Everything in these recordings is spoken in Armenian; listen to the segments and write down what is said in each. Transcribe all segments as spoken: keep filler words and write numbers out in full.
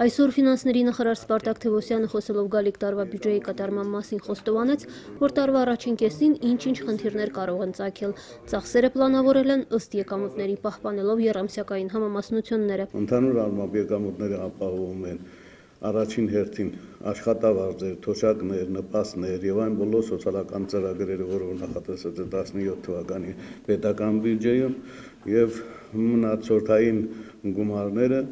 Այսօր ֆինանսների նախարար Սպարտակ Թևոսյանը խոսելով գալիք տարվա բյուջեի կատարման մասին խոստովանեց, որ տարվա առաջին կեսին ինչ-ինչ խնդիրներ կարող են ծագել։ Ծախսերը պլանավորել են ըստ եկամուտների, պահպանելով եռամսյակային համամասնությունները։ Ընդհանուր առմամբ եկամուտները ապահովում են առաջին հերթին աշխատավարձեր, թոշակներ, նպաստներ եւ այն բոլոր սոցիալական ծրագրերը, որոնք նախատեսված է տասնյոթ թվականի պետական բյուջեում, եւ մնացորդային գումարները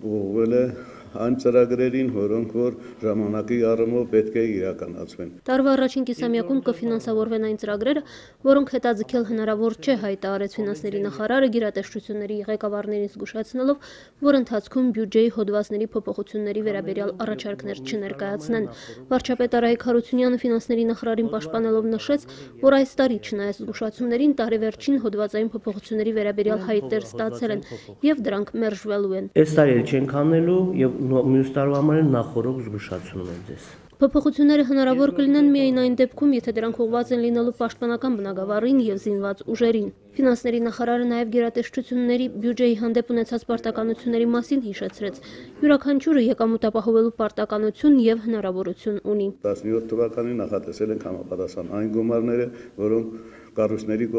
ուղղվել է այն ծրագրերին, որոնք որ ժամանակի առումով պետք է իրականացվեն։ Տարվա առաջին կիսամյակում կֆինանսավորվեն այն ծրագրերը, որոնք հետաձգել հնարավոր չէ, հայտարարեց ֆինանսների նախարարը գերատեսչությունների ղեկավարներին զգուշացնելով, որ ընթացքում բյուջեի հոդվածների փոփոխությունների վերաբերյալ առաջարկներ չներկայացնեն։ Վարչապետ Արայիկ Հարությունյանը ֆինանսների նախարարին պաշտպանելով նշեց, որ այս տարի չնայած զգուշացումներին տարեվերջին հոդվածային փոփոխությունների վերաբերյալ հայտեր ստացել են եւ դրանք մերժվելու են։ Այս տարի էլ չենք անելու եւ մյուս տարվա համար նախորդ զգուշացնում են ձեզ։ Փոփոխությունները հնարավոր կլինեն միայն այն դեպքում, եթե դրանք ուղղված են լինելու պաշտպանական բնագավառին եւ զինված ուժերին։ Ֆինանսների նախարարը նաեւ գերատեսչությունների բյուջեի հանդեպ ունեցած պարտականությունների մասին հիշեցրեց։ Յուրաքանչյուրը եկամուտ ապահովելու պարտականություն եւ հնարավորություն ունի։ տասնյոթ թվականին նախատեսել ենք համապատասխան այն գումարները, որոնք կառույցների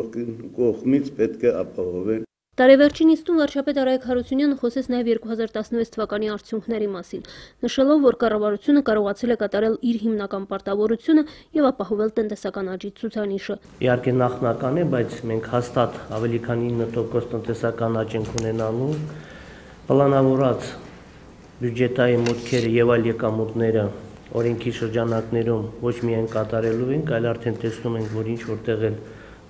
կողմից պետք է ապահովեն։ Տարեվերջին նիստում վարչապետ Արայիկ Հարությունյանը խոսեց նաև երկու հազար տասնվեց թվականի արդյունքների մասին, նշելով, որ կառավարությունը կարողացել է կատարել իր հիմնական պարտավորությունը եւ ապահովել տնտեսական աճի ցուցանիշը։ Իհարկե նախնական է, բայց մենք հաստատ ավելի քան ինը տոկոս տնտեսական աճ ենք ունենալու, պլանավորած բյուջետային մուտքերը եւ այլ եկամուտները օրենքի շրջանակներում ոչ միայն կատարելու ենք, այլ արդեն տեսնում ենք, որ ինչ որտեղ էլ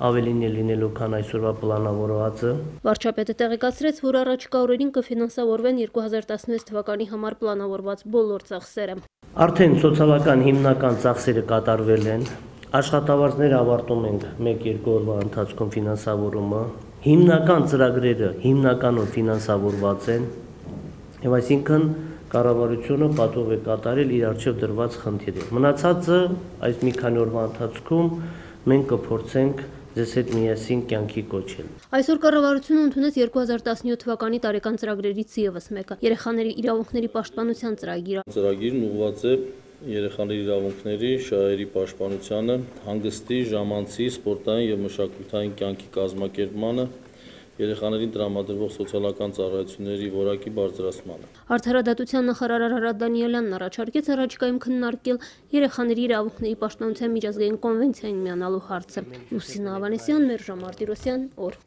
ավելին է լինելու, քան այսօրվա պլանավորվածը։ Վարչապետը տեղեկացրեց, որ առաջիկա օրերին կֆինանսավորվեն երկու հազար տասնվեց թվականի համար պլանավորված բոլոր ծախսերը։ Արդեն սոցիալական հիմնական ծախսերը կատարվել են, աշխատավարձները ավարտում ենք մեկ-երկու օրվա ընթացքում ֆինանսավորումը, հիմնական ծրագրերը հիմնականում ֆինանսավորված են, եւ այսինքն կառավարությունը պատով է կատարել իր առջև դրված խնդիրը։ Մնացածը այս մի քանի օրվա ընթացքում մենք կփորձենք ձեզ հետ միասին կյանքի կոչել։ Այսօր կառավարությունը ընդունեց երկու հազար տասնյոթ թվականի տարեկան ծրագրերից ևս մեկը՝ երեխաների իրավունքների պաշտպանության ծրագիրը։ Ծրագիրն ուղղված է երեխաների իրավունքների, շահերի պաշտպանությանը, հանգստի, ժամանցի, սպորտային եւ մշակութային կյանքի կազմակերպմանը, երեխաներին տրամադրվող սոցիալական ծառայությունների որակի բարձրացմանը։ Արդարադատության նախարար Արարատ Դանիելյանն առաջարկեց առաջիկայում քննարկել երեխաների իրավունքների պաշտպանության միջազգային կոնվենցիային միանալու հարցը։ Լուսինա Ավանեսյան, Մերժա Մարտիրոսյան, օր։